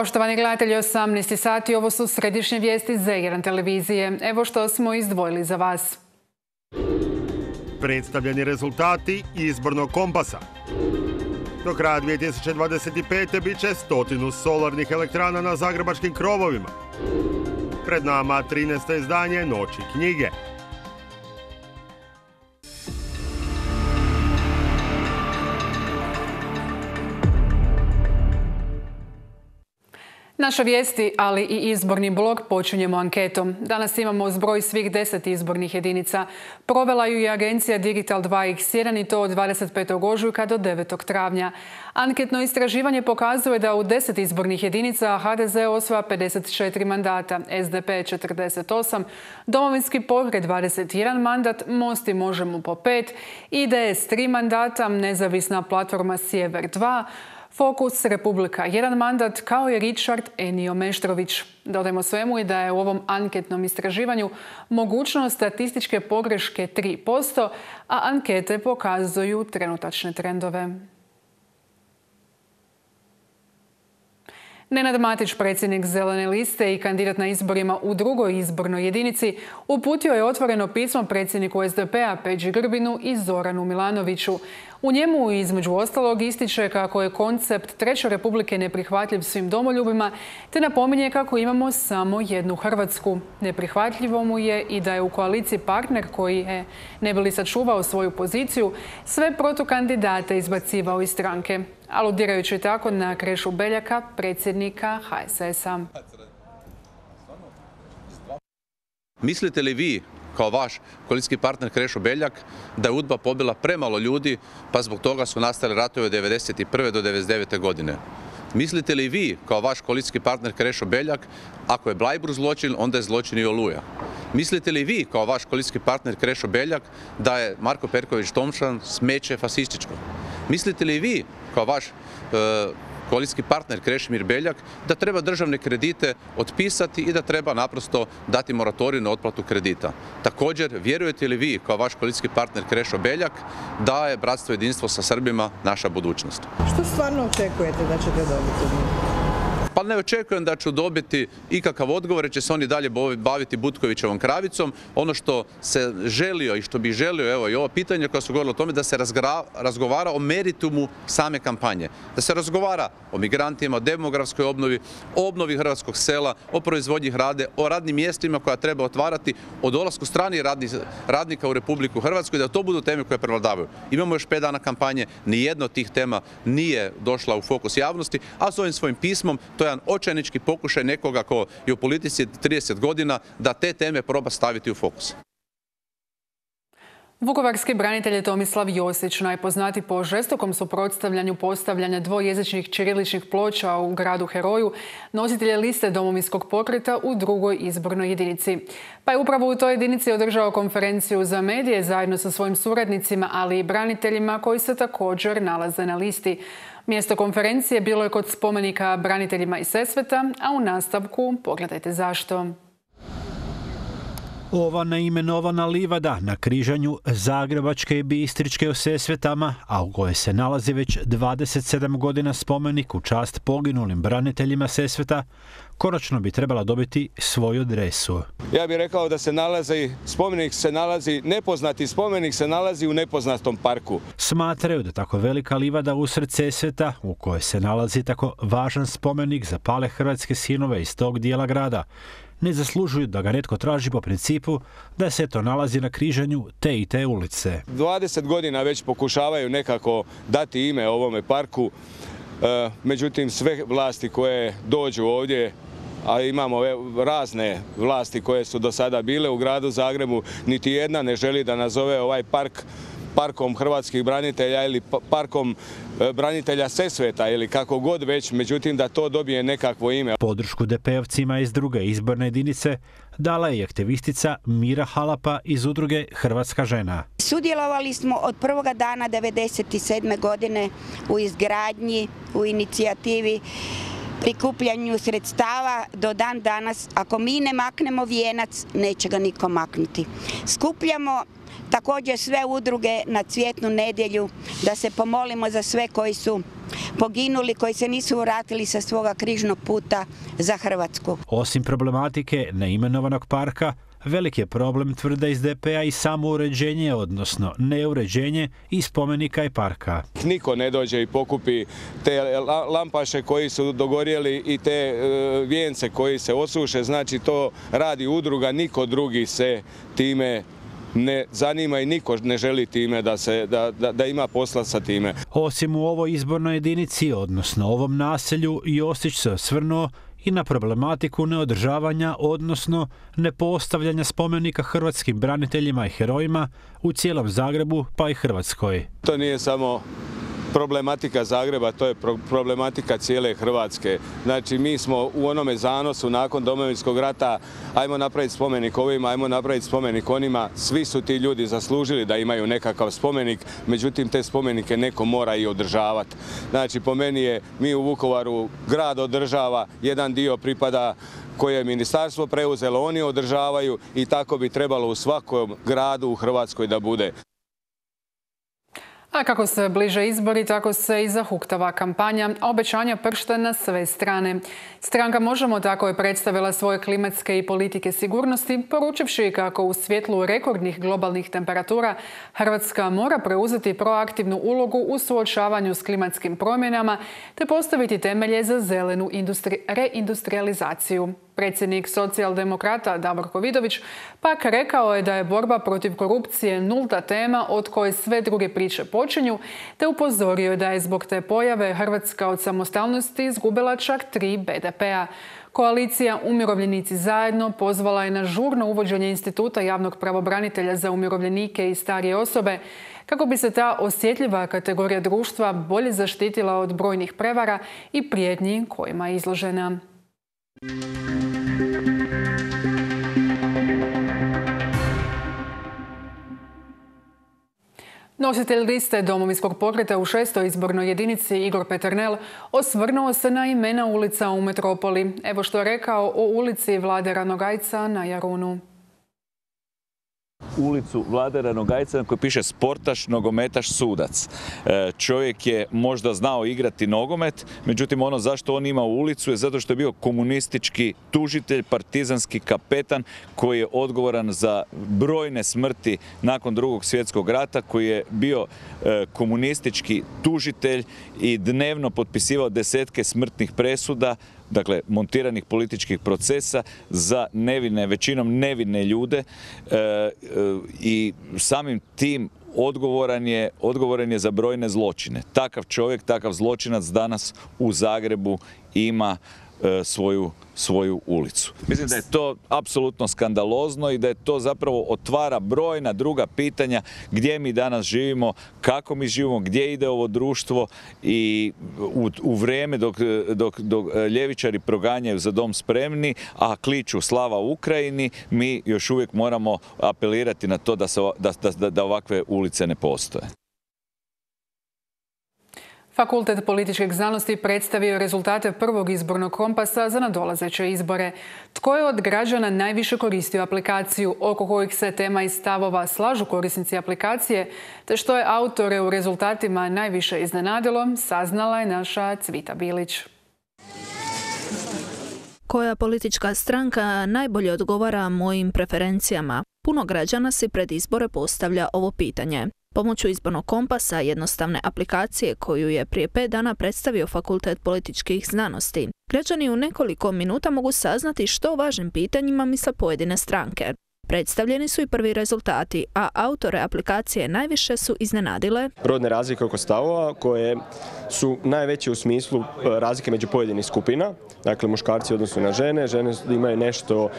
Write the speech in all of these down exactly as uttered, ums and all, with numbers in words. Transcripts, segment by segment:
Poštovani gledatelji, osamnaest sati, ovo su središnje vijesti Z jedan televizije. Evo što smo izdvojili za vas. Predstavljeni rezultati izbornog kompasa. Do kraja dvije tisuće dvadeset pete. bit će stotinu solarnih elektrana na zagrebačkim krovovima. Pred nama trinaesto izdanje Noći knjige. Naše vijesti, ali i izborni blog počinjemo anketom. Danas imamo zbroj svih deset izbornih jedinica. Provela ju je agencija Digital dva iks jedan i to od dvadeset petog ožujka do devetog travnja. Anketno istraživanje pokazuje da u deset izbornih jedinica ha de ze osvaja pedeset četiri mandata, es de pe četrdeset osam, Domovinski pokret dvadeset jedan mandat, Most i Možemo po pet, i de es tri mandata, Nezavisna platforma Sjever dva, Fokus Republika jedan mandat, kao i Richard Enio Meštrović. Dodajmo svemu i da je u ovom anketnom istraživanju mogućnost statističke pogreške tri posto, a ankete pokazuju trenutačne trendove. Nenad Matić, predsjednik Zelene liste i kandidat na izborima u drugoj izbornoj jedinici, uputio je otvoreno pismo predsjedniku es de pe-a Peđi Grbinu i Zoranu Milanoviću. U njemu između ostalog ističe kako je koncept Treće republike neprihvatljiv svim domoljubima, te napominje kako imamo samo jednu Hrvatsku. Neprihvatljivo mu je i da je u koaliciji partner koji je, ne bi li sačuvao svoju poziciju, sve protukandidate izbacivao iz stranke, aludirajući tako na Krešu Beljaka, predsjednika ha es es-a. Mislite li vi, kao vaš koalicijski partner Krešo Beljak, da je UDBA pobila premalo ljudi, pa zbog toga su nastali ratovi od devedeset prve do devedeset devete. godine? Mislite li vi, kao vaš koalicijski partner Krešo Beljak, ako je Bleiburg zločin, onda je zločin i Oluja? Mislite li vi, kao vaš koalicijski partner Krešo Beljak, da je Marko Perković Tomšan smeće fasističko? Mislite li vi, kao vaš e, koalicijski partner Krešimir Beljak, da treba državne kredite otpisati i da treba naprosto dati moratorij na otplatu kredita? Također, vjerujete li vi, kao vaš koalicijski partner Krešo Beljak, da je bratstvo i jedinstvo sa Srbima naša budućnost? Što stvarno očekujete da ćete dobiti? Pa ne očekujem da ću dobiti ikakav odgovor, jer će se oni dalje baviti Butkovićevom kravicom. Ono što se želio i što bi želio, evo i ovo pitanje koje su govorili o tome, da se razgovara o meritumu same kampanje. Da se razgovara o migrantima, o demografskoj obnovi, o obnovi hrvatskog sela, o proizvodnji hrane, o radnim mjestima koja treba otvarati, o dolasku stranih radnika u Republiku Hrvatsku i da to budu teme koje prevladavaju. Imamo još pet dana kampanje, nijedna od tih tema nije došla u fokus javnosti, a s ovim svojim pismom to je jedan očajnički pokušaj nekoga ko je u politici trideset godina da te teme proba staviti u fokus. Vukovarski branitelj Tomislav Josić, najpoznati po žestokom suprotstavljanju postavljanja dvojezičnih ćiriličnih ploča u gradu Heroju, nositelj je liste Domovinskog pokreta u drugoj izbornoj jedinici. Pa je upravo u toj jedinici održao konferenciju za medije zajedno sa svojim suradnicima, ali i braniteljima koji se također nalaze na listi. Mjesto konferencije bilo je kod spomenika braniteljima iz Sesveta, a u nastavku pogledajte zašto. Ova neimenovana livada na križanju Zagrebačke i Bistričke u Sesvetama, a u kojoj se nalazi već dvadeset sedam godina spomenik u čast poginulim braniteljima Sesveta, konačno bi trebala dobiti svoju adresu. Ja bih rekao da se nalazi, spomenik se nalazi, nepoznati spomenik se nalazi u nepoznatom parku. Smatraju da tako velika livada usred Sesveta, u kojoj se nalazi tako važan spomenik za pale hrvatske sinove iz tog dijela grada, ne zaslužuju da ga netko traži po principu da se to nalazi na križanju te i te ulice. dvadeset godina već pokušavaju nekako dati ime ovome parku, međutim sve vlasti koje dođu ovdje, a imamo razne vlasti koje su do sada bile u gradu Zagrebu, niti jedna ne želi da nazove ovaj park parkom hrvatskih branitelja ili parkom branitelja Sesveta ili kako god već, međutim da to dobije nekakvo ime. Podršku de pe-ovcima iz druge izborne jedinice dala je aktivistica Mira Halapa iz udruge Hrvatska žena. Sudjelovali smo od prvoga dana devedeset sedme. godine u izgradnji, u inicijativi, prikupljanju sredstava do dan danas. Ako mi ne maknemo vijenac, neće ga niko maknuti. Skupljamo također sve udruge na Cvjetnu nedjelju da se pomolimo za sve koji su poginuli koji se nisu vratili sa svoga križnog puta za Hrvatsku. Osim problematike neimenovanog parka, velik je problem, tvrde iz D P-a, i samo uređenje, odnosno neuređenje i spomenika i parka. Niko ne dođe i pokupi te lampaše koji su dogorjeli i te vijence koji se osuše, znači to radi udruga, niko drugi se time ne zanima i niko ne želi time da, se, da, da, da ima posla sa time. Osim u ovoj izbornoj jedinici, odnosno ovom naselju, Josić se osvrnuo i na problematiku neodržavanja, odnosno nepostavljanja spomenika hrvatskim braniteljima i herojima u cijelom Zagrebu pa i Hrvatskoj. To nije samo problematika Zagreba, to je problematika cijele Hrvatske. Znači mi smo u onome zanosu nakon Domovinskog rata, ajmo napraviti spomenik ovima, ajmo napraviti spomenik onima. Svi su ti ljudi zaslužili da imaju nekakav spomenik, međutim te spomenike neko mora i održavati. Znači po meni je, mi u Vukovaru grad održava, jedan dio pripada koje je ministarstvo preuzelo, oni održavaju i tako bi trebalo u svakom gradu u Hrvatskoj da bude. A kako se bliže izbori, tako se i zahuktava kampanja, a obećanja pršte na sve strane. Stranka Možemo tako je predstavila svoje klimatske i politike sigurnosti, poručivši kako u svjetlu rekordnih globalnih temperatura Hrvatska mora preuzeti proaktivnu ulogu u suočavanju s klimatskim promjenama te postaviti temelje za zelenu industri- reindustrializaciju. Predsjednik socijaldemokrata Davorko Vidović pak rekao je da je borba protiv korupcije nulta tema od koje sve druge priče počinju, te upozorio je da je zbog te pojave Hrvatska od samostalnosti izgubila čak tri B D P-a. Koalicija Umirovljenici zajedno pozvala je na žurno uvođenje instituta javnog pravobranitelja za umirovljenike i starije osobe kako bi se ta osjetljiva kategorija društva bolje zaštitila od brojnih prevara i prijetnji kojima je izložena. Nositelj liste Domovinskog pokreta u šestoj izbornoj jedinici Igor Peternel osvrnuo se na imena ulica u metropoli. Evo što je rekao o ulici Vlade Ranogajca na Jarunu. Ulicu Vlade Ranogajca na kojoj piše sportaš, nogometaš, sudac. Čovjek je možda znao igrati nogomet, međutim ono zašto on ima ulicu je zato što je bio komunistički tužitelj, partizanski kapetan koji je odgovoran za brojne smrti nakon Drugog svjetskog rata, koji je bio komunistički tužitelj i dnevno potpisivao desetke smrtnih presuda, dakle montiranih političkih procesa za nevine, većinom nevine ljude e, e, i samim tim odgovoran je, odgovoran je za brojne zločine. Takav čovjek, takav zločinac danas u Zagrebu ima e, svoju, svoju ulicu. Mislim da je to apsolutno skandalozno i da je to zapravo otvara brojna druga pitanja gdje mi danas živimo, kako mi živimo, gdje ide ovo društvo i u, u vrijeme dok, dok, dok ljevičari proganjaju Za dom spremni, a kliču slava Ukrajini, mi još uvijek moramo apelirati na to da, se, da, da, da ovakve ulice ne postoje. Fakultet političkih znanosti predstavio rezultate prvog izbornog kompasa za nadolazeće izbore. Tko je od građana najviše koristio aplikaciju, oko kojih se tema i stavova slažu korisnici aplikacije, te što je autore u rezultatima najviše iznenadilo, saznala je naša Cvita Bilić. Koja politička stranka najbolje odgovara mojim preferencijama? Puno građana si pred izbore postavlja ovo pitanje. Pomoću izbornog kompasa, jednostavne aplikacije koju je prije pet dana predstavio Fakultet političkih znanosti, građani u nekoliko minuta mogu saznati što o važnim pitanjima misle pojedine stranke. Predstavljeni su i prvi rezultati, a autore aplikacije najviše su iznenadile rodne razlike oko stavova koje su najveće u smislu razlike među pojedinih skupina. Dakle, muškarci odnosu na žene, žene imaju nešto uh,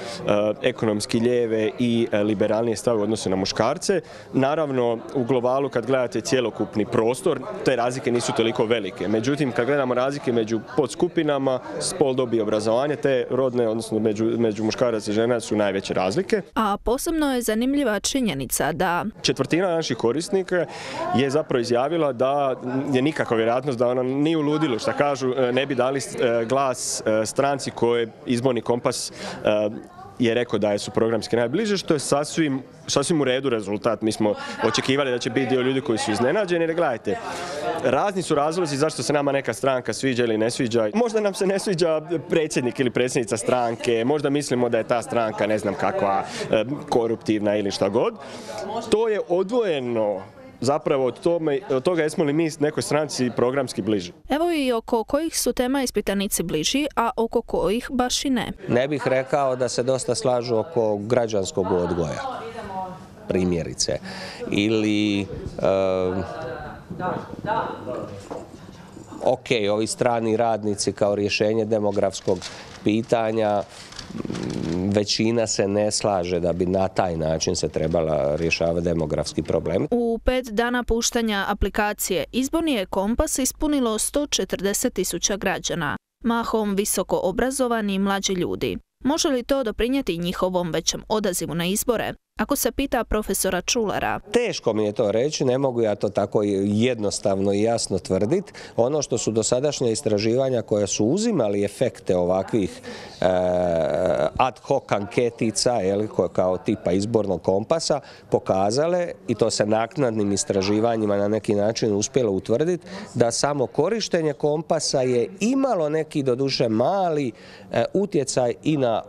ekonomski lijeve i uh, liberalnije stavove u odnosu na muškarce. Naravno, u globalu kad gledate cjelokupni prostor, te razlike nisu toliko velike. Međutim, kad gledamo razlike među podskupinama, spol, dob i obrazovanje, te rodne, odnosno među, među muškaraca i žena su najveće razlike. A posebno je zanimljiva činjenica da četvrtina naših korisnika je zapravo izjavila da je nikakva vjerojatnost da ona nije u ludilu, što kažu, ne bi dali glas stranci koje izborni kompas je rekao da su programski najbliže, što je sasvim, sasvim u redu rezultat. Mi smo očekivali da će biti dio ljudi koji su iznenađeni, jer gledajte, razni su razlozi zašto se nama neka stranka sviđa ili ne sviđa. Možda nam se ne sviđa predsjednik ili predsjednica stranke, možda mislimo da je ta stranka ne znam kakva koruptivna ili šta god. To je odvojeno zapravo od, tome, od toga jesmo li mi nekoj stranci programski bliži. Evo i oko kojih su tema ispitanici bliži, a oko kojih baš i ne. Ne bih rekao da se dosta slažu oko građanskog odgoja, primjerice. Ili, uh, ok, ovi strani radnici kao rješenje demografskog pitanja, većina se ne slaže da bi na taj način se trebala rješavati demografski problem. U pet dana puštanja aplikacije Izborni je kompas ispunilo sto četrdeset tisuća građana, mahom visoko obrazovani i mlađi ljudi. Može li to doprinijeti njihovom većem odazivu na izbore? Ako se pita profesora Čulara. Teško mi je to reći, ne mogu ja to tako jednostavno i jasno tvrditi. Ono što su dosadašnja istraživanja koja su uzimali efekte ovakvih e, ad hoc anketica, jel, kao tipa izbornog kompasa, pokazale, i to se naknadnim istraživanjima na neki način uspjelo utvrditi, da samo korištenje kompasa je imalo neki doduše mali e, utjecaj i na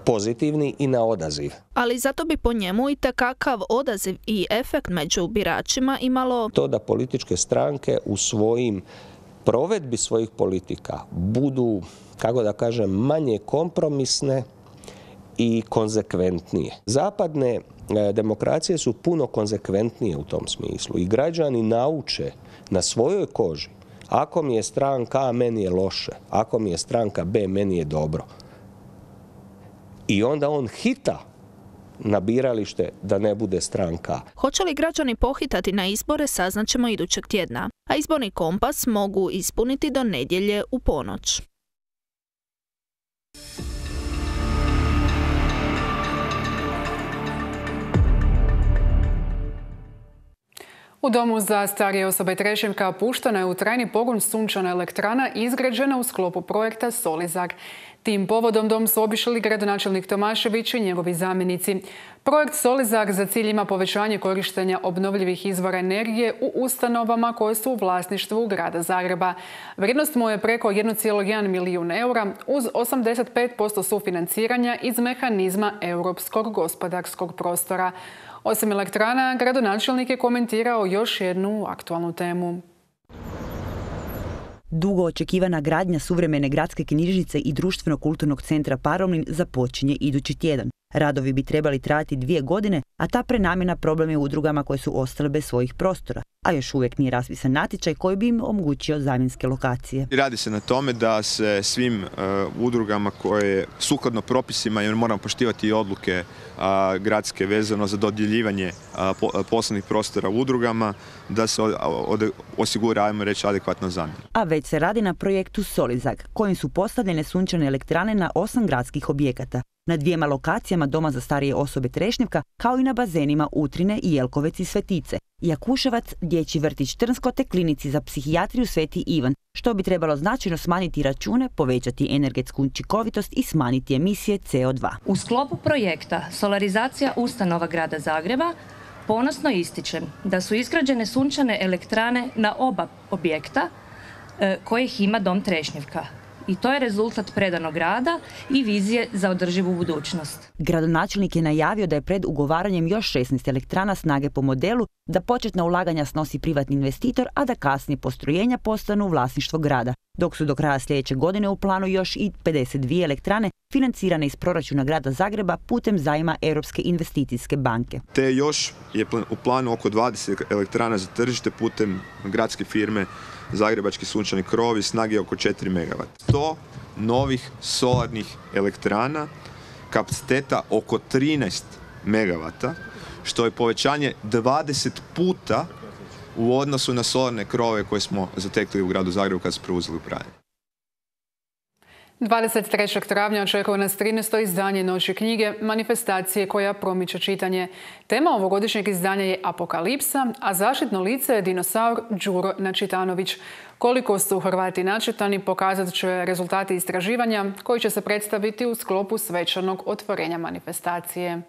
pozitivni i na odaziv. Ali zato bi po njemu i takakav odaziv i efekt među biračima imalo to da političke stranke u svojim provedbi svojih politika budu, kako da kažem, manje kompromisne i konzekventnije. Zapadne demokracije su puno konzekventnije u tom smislu i građani nauče na svojoj koži. Ako mi je stranka A, meni je loše. Ako mi je stranka B, meni je dobro. I onda on hita na biralište da ne bude stranka. Hoće li građani pohitati na izbore, saznaćemo idućeg tjedna. A izborni kompas mogu ispuniti do nedjelje u ponoć. U domu za starije osobe Trešnjevka puštena je u trajni pogon sunčana elektrana izgrađena u sklopu projekta Solizar. Tim povodom dom su obišli gradonačelnik Tomašević i njegovi zamjenici. Projekt Solizar za cilj ima povećanje korištenja obnovljivih izvora energije u ustanovama koje su u vlasništvu grada Zagreba. Vrijednost mu je preko jedan zarez jedan milijun eura uz osamdeset pet posto sufinanciranja iz mehanizma Europskog gospodarskog prostora. Osim elektrana, gradonačelnik je komentirao još jednu aktualnu temu. Dugo očekivana gradnja suvremene gradske knjižnice i društveno-kulturnog centra Paromlin započinje idući tjedan. Radovi bi trebali trajati dvije godine, a ta prenamjena problem je udrugama koje su ostale bez svojih prostora, a još uvijek nije raspisan natječaj koji bi im omogućio zamjenske lokacije. Radi se na tome da se svim uh, udrugama koje sukladno propisima, jer moramo poštivati i odluke uh, gradske vezano za dodjeljivanje uh, po, poslovnih prostora udrugama, da se od, od, osigura, ajmo reći, adekvatna zamjena. A već se radi na projektu Solizar, kojim su postavljene sunčane elektrane na osam gradskih objekata. Na dvijema lokacijama Doma za starije osobe Trešnjevka, kao i na bazenima Utrine i Jelkovec i Svetice, Jakuševac, Dječji vrtić Trnsko te klinici za psihijatriju Sveti Ivan, što bi trebalo značajno smanjiti račune, povećati energetsku učinkovitost i smanjiti emisije C O dva. U sklopu projekta Solarizacija ustanova grada Zagreba ponosno ističem da su izgrađene sunčane elektrane na oba objekta kojih ima Dom Trešnjevka. I to je rezultat predanog rada i vizije za održivu budućnost. Gradonačelnik je najavio da je pred ugovaranjem još šesnaest elektrana snage po modelu, da početna ulaganja snosi privatni investitor, a da kasnije postrojenja postanu vlasništvo grada, dok su do kraja sljedeće godine u planu još i pedeset dvije elektrane financirane iz proračuna grada Zagreba putem zajma Europske investicijske banke. Te još je u planu oko dvadeset elektrana za tržište putem gradske firme Zagrebački sunčani krovovi snage oko četiri megavata. sto novih solarnih elektrana kapaciteta oko trinaest megavata, što je povećanje dvadeset puta u odnosu na solarne krovove koje smo zatekli u gradu Zagrebu kad smo preuzeli upravljanje. dvadeset trećeg travnja očekuje nas trinaesto izdanje Noći knjige, manifestacije koja promiče čitanje. Tema ovogodišnjeg izdanja je apokalipsa, a zaštitno lice je dinosaur Đuro Načitanović. Koliko su Hrvati načitani pokazat će rezultati istraživanja koji će se predstaviti u sklopu svečanog otvorenja manifestacije.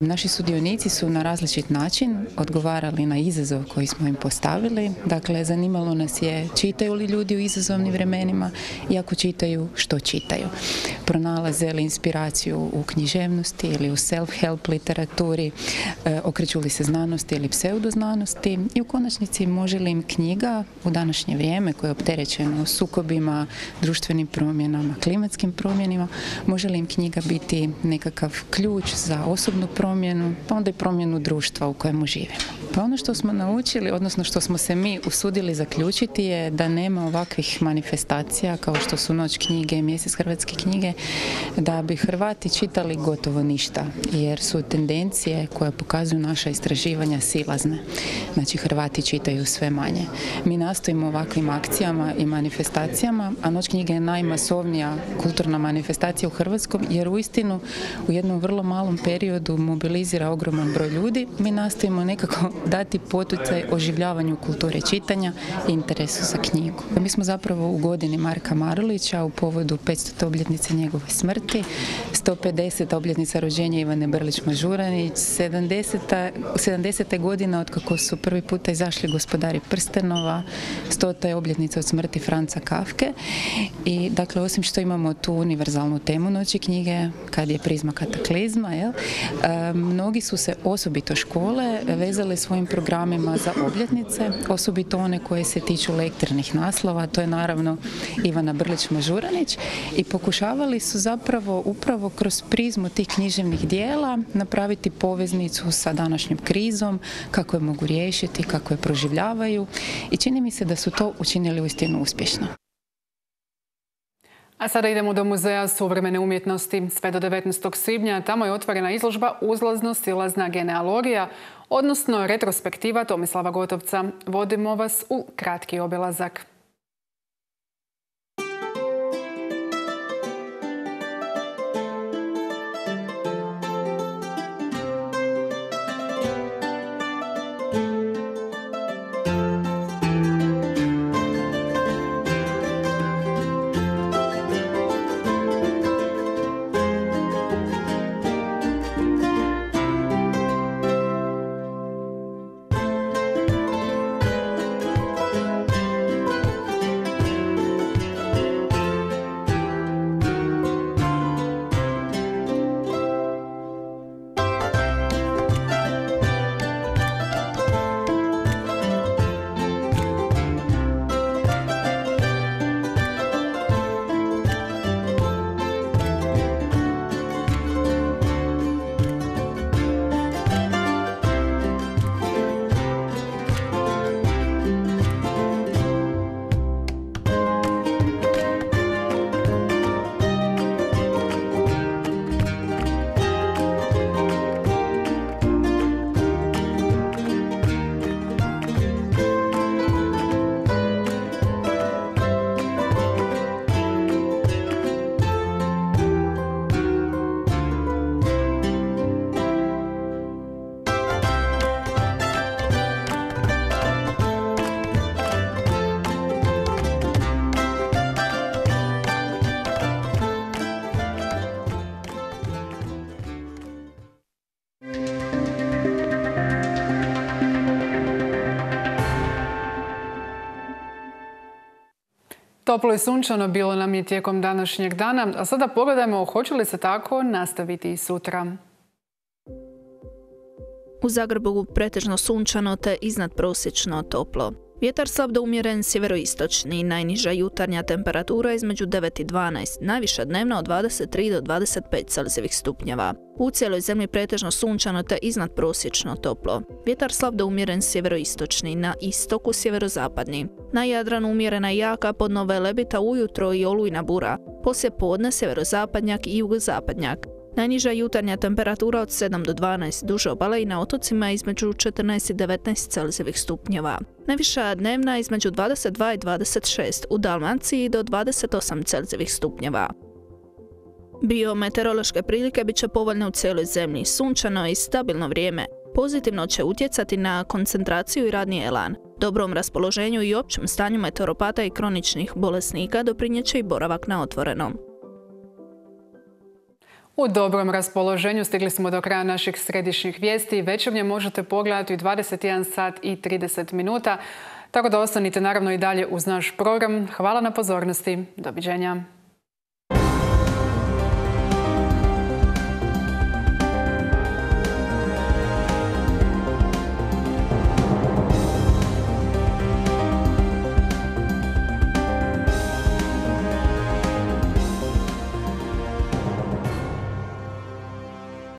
Naši sudionici su na različit način odgovarali na izazov koji smo im postavili. Dakle, zanimalo nas je čitaju li ljudi u izazovnim vremenima i ako čitaju, što čitaju. Pronalaze li inspiraciju u književnosti ili u self-help literaturi, e, okreću li se znanosti ili pseudoznanosti i u konačnici može li im knjiga u današnje vrijeme koje je opterećeno sukobima, društvenim promjenama, klimatskim promjenima, može li im knjiga biti nekakav ključ za osobnu promjenu, promjenu, pa onda i promjenu društva u kojemu živimo. Pa ono što smo naučili, odnosno što smo se mi usudili zaključiti je da nema ovakvih manifestacija kao što su Noć knjige i Mjesec hrvatske knjige, da bi Hrvati čitali gotovo ništa, jer su tendencije koje pokazuju naša istraživanja silazne. Znači, Hrvati čitaju sve manje. Mi nastojimo ovakvim akcijama i manifestacijama, a Noć knjige je najmasovnija kulturna manifestacija u Hrvatskom, jer uistinu u jednom vrlo malom periodu mobilizira ogroman broj ljudi. Mi nastojimo nekako dati poticaj oživljavanju kulture čitanja i interesu za knjigu. Mi smo zapravo u godini Marka Marulića u povodu petstute obljetnice njegove smrti, sto pedesete obljetnica rođenja Ivane Brlić-Mažuranić, sedamdesete godina od kako su prvi puta izašli Gospodari prstenova, stota je obljetnica od smrti Franca Kafke. I dakle, osim što imamo tu univerzalnu temu Noći knjige, kad je prizma kataklizma, jel? E, mnogi su se, osobito škole, vezali svojim programima za obljetnice, osobito one koje se tiču lektirnih naslova, to je naravno Ivana Brlić-Mažuranić, i pokušavali su zapravo upravo kroz prizmu tih književnih dijela napraviti poveznicu sa današnjom krizom, kako je mogu riješiti, kako je proživljavaju, i čini mi se da su to učinili uistinu uspješno. A sada idemo do Muzeja suvremene umjetnosti. Sve do devetnaestog svibnja tamo je otvorena izložba Uzlazno-silazna genealogija, odnosno retrospektiva Tomislava Gotovca. Vodimo vas u kratki obilazak. Toplo i sunčano bilo nam je tijekom današnjeg dana, a sada pogledajmo hoće li se tako nastaviti i sutra. U Zagrebu pretežno sunčano te iznadprosječno toplo. Vjetar slab do umjeren sjeveroistočni, najniža jutarnja temperatura između devet i dvanaest, najviša dnevna od dvadeset tri do dvadeset pet celzijevih stupnjeva. U cijeloj zemlji pretežno sunčano te iznadprosječno toplo. Vjetar slab do umjeren sjeveroistočni, na istoku sjeverozapadni. Na Jadranu umjerena i jaka, pod Nove Lebita ujutro i olujna bura. Poslije podne sjeverozapadnjak i jugozapadnjak. Najniža jutarnja temperatura od sedam do dvanaest duže obale i na otocima između četrnaest i devetnaest Celzijevih stupnjeva. Najviša dnevna između dvadeset dva i dvadeset šest, u Dalmaciji do dvadeset osam Celzijevih stupnjeva. Biometeorološke prilike bit će povoljne u cijeloj zemlji, sunčano i stabilno vrijeme. Pozitivno će utjecati na koncentraciju i radni elan. Dobrom raspoloženju i općem stanju meteoropata i kroničnih bolesnika doprinijet će i boravak na otvorenom. U dobrom raspoloženju stigli smo do kraja naših središnjih vijesti. Večernje možete pogledati u dvadeset jedan sat i trideset minuta. Tako da ostanite naravno i dalje uz naš program. Hvala na pozornosti. Doviđenja.